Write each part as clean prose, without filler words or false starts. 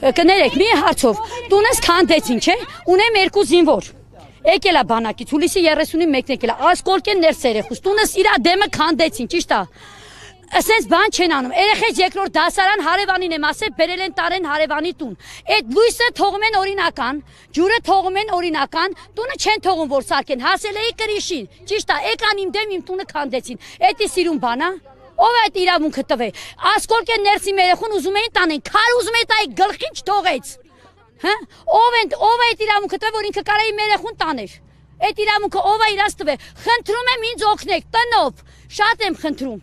կներեք, մի հարցով, տունս քանդեցին, չէ, ունեմ 2 զինվոր, եկել է բանակից, հուլիսի 31-ին եկել է, ասկոլկեն ներս երեխուս, տունս իրա դեմը քանդեցին, ճիշտ է, ասենց բան չեն անում, երեխես երկրորդ դասարան հարևանին եմ ասել, բերել են տարեն հարևանի տուն, այդ լույսը թողում են օրինական, ջուրը թողում են օրինական, տունը չեն թողում, որ սարքեն, հասել էի կրիշին, ճիշտ է, եկան իմ դեմ իմ տունը քանդեցին, էդի սիրուն բան է, ով է այդ իրավունքը տվե, ասկոլկեն ներսի երեխուն ուզում էին տանեն, քար ուզում են տայի գլխին չթողեց, ով է այդ իրավունքը տվե, որ ինքը կարա իմ երեխուն տաներ, այդ իրավունքը ով է իրաց տվե, խնդրում եմ ինձ օգնեք, տնով, շատ եմ խնդրում,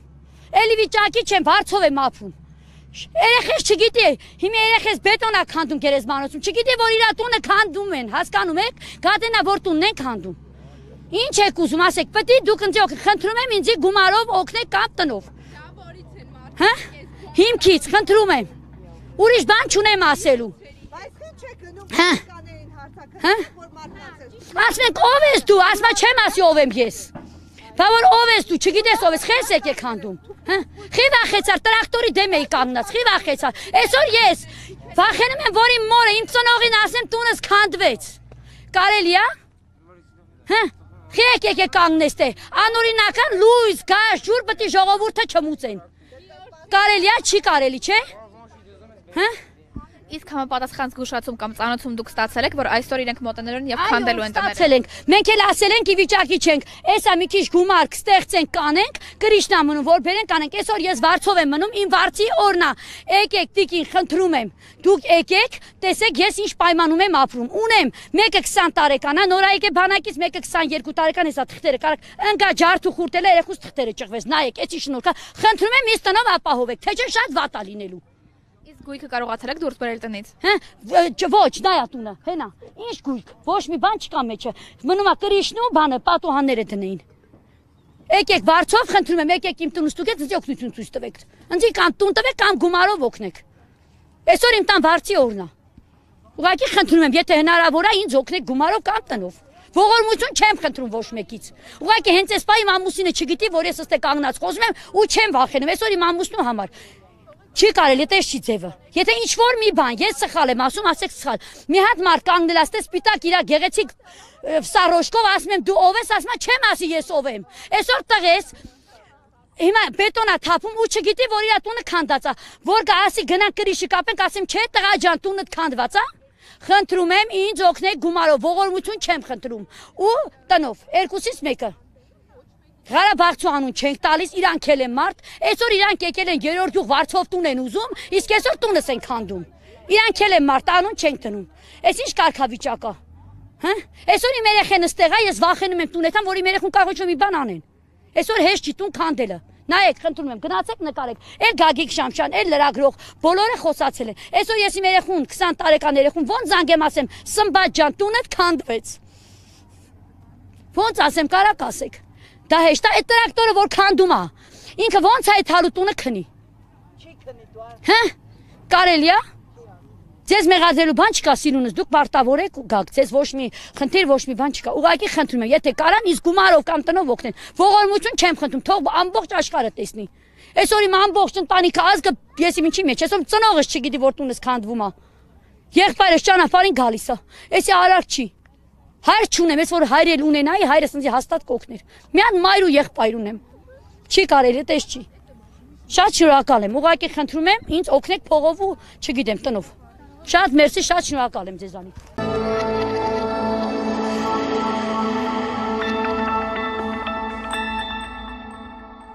էլի վիճակի չեմ, վարձով եմ ապրում, երեխես չգիտի, հիմա երեխես բետոնա քանդում գերեզմանոցում, չգիտի, որ իրա տունը քանդում են, հասկանում եք, գատենա, որ տունն են քանդում, ինչ եք ուզում, ասեք, պտի դուք ինձ օգնեք, խնդրում եմ ինձի գումարով օգնեք կամ տնով, հիմքից, խնդրում եմ, ուրիշ բան չունեմ ասելու, ասում ենք ով ես դու, ասմա չեմ ասի ով եմ ես, բա որ ով ես դու, չգիտես ով ես, խես եք եք հանդում, խի վախեցար, տրակտորի դեմ էի կանգնած, խի վախեցար, այսօր ես, վախենում եմ, որ իմ մորը, իմ ծնողին ասեմ տունս քանդվեց, կարելի է, խի եք կանգնես տե, անօրինական լույս, գաշ, ջուր պտի ժողովուրդը չմուծեն, կարելի է, չի կարելի, չէ, Իսկ համապատասխան զգուշացում կամ ծանոթում դուք ստացել եք, որ այսօր իրենք մոտեներուն եւ քանդելու են տները։ Ստացել ենք։ Մենք էլ ասել ենք ի վիճակի չենք։ Էսա մի քիչ գումար կստեղծենք, կանենք, կրիշնա մնում, որ բերենք կանենք։ Այսօր ես վարձով եմ մնում, իմ վարձի օրն է։ Եկեք, տիկին, խնդրում եմ։ Դուք եկեք, տեսեք ես ինչ պայմանում եմ ապրում։ Ունեմ, մեկը 20 տարեկան է, նոր եկե բանակից, մեկը 22 տարեկան, հեսա թղթերը կարակ ընկա ջարդու խուրտել է, երեխուս թղթերը ճղվեց։ Նայեք, էսի շնորհքա։ Խնդրում եմ, ինձ տնով ապահովեք, թե չէ շատ վատ է լինելու։ Գույքը կարողացել եք դուրս բերել տնից։ Ոչ, նայ տունը, հենա, ինչ գույք, ոչ մի բան չկա մեջը, մնում է կրիշն ու բանը, պատուհանները դնեին։ Եկեք վարձով խնդրում եմ, եկեք իմ տունս տուգեք, ինձ օգնություն ցույց տվեք։ Ինձ կամ տուն տվեք կամ գումարով օգնեք։ Այսօր իմ տան վարձի օրն է։ Ուղղակի խնդրում եմ, եթե հնարավոր է ինձ օգնեք գումարով կամ տնով։ Ողորմություն չեմ խնդրում ոչ մեկից։ Ուղղակի հենց այս պահ իմ ամուսինը չգիտի, որ ես ըստե կանգնած խոսում եմ ու չեմ վախենում։ Այսօր իմ ամուսնու համար չի կարելի, տես չի ձևը։ Եթե ինչ-որ մի բան, ես սխալ եմ ասում, ասեք սխալ։ Մի հատ մարդ կանգնել ասես սպիտակ իրա գեղեցիկ սարոշկով, ասում եմ դու ով ես, ասում եմ չեմ ասի ես ով եմ։ Այսօր տղես հիմա բետոնա թափում ու չգիտի, որ իրա տունը քանդած է, որ գա ասի գնանք կրիշի կապենք, ասեմ չէ տղա ջան, տունդ քանդված է։ Խնդրում եմ ինձ օգնեք գումարով, ողորմություն չեմ խնդրում։ Ու տնով, երկուսից մեկը։ Ղարաբաղցու անուն չենք տալիս, իրանք էլ են մարդ, այսօր իրանք եկել են երրորդ գյուղ վարձով տուն են ուզում, իսկ այսօր տունս են քանդում։ Իրանք էլ են մարդ, անուն չենք տնում։ Այս ինչ կարգավիճակ է։ Այսօր իմ երեխեն ստեղ է, ես վախենում եմ տուն եթան, որ իմ երեխուն կարող չէ մի բան անեն։ Այսօր հեշտ չի տուն քանդելը։ Նայեք, խնդրում եմ, գնացեք նկարեք։ Էլ Գագիկ Շամշյան, էլ լրագրող, բոլորը խոսացել են։ Այսօր ես իմ երեխուն, 20 տարեկան երեխուն, ոնց զանգեմ ասեմ, Սմբատ ջան, տունդ քանդվեց։ Ոնց ասեմ, կարակ ասեք։ Դա հեշտ է, այդ տրակտորը որ քանդում է, ինքը ոնց է այդ հալու տունը քնի։ Չի քնի դու։ Կարելի է։ Ձեզ մեղադրելու բան չկա սիրունս, դուք պարտավոր եք ու գաք, ձեզ ոչ մի խնդիր, ոչ մի բան չկա։ Ուղղակի խնդրում եմ, եթե կարան իսկ գումարով կամ տնով օգնեն, ողորմություն չեմ խնդրում, թող ամբողջ աշխարհը տեսնի։ Այսօր իմ ամբողջ ընտանիքը ազգը ես իմ ինչի մեջ, այսօր ծնողս չգիտի որ տունս քանդվում է։ Եղբայրս ճանապարհին գալիս է։ Էսի արարք չի։ Հայր չունեմ, ես որ հայր էլ ունենայի, հայրս ինձ հաստատ կօգներ։ Մի հատ մայր ու եղբայր ունեմ։ Չի կարելի, տես չի։ Շատ շնորհակալ եմ, ուղղակի խնդրում եմ, ինձ օգնեք փողով ու չգիտեմ տնով։ Շատ մերսի, շատ շնորհակալ եմ ձեզանից։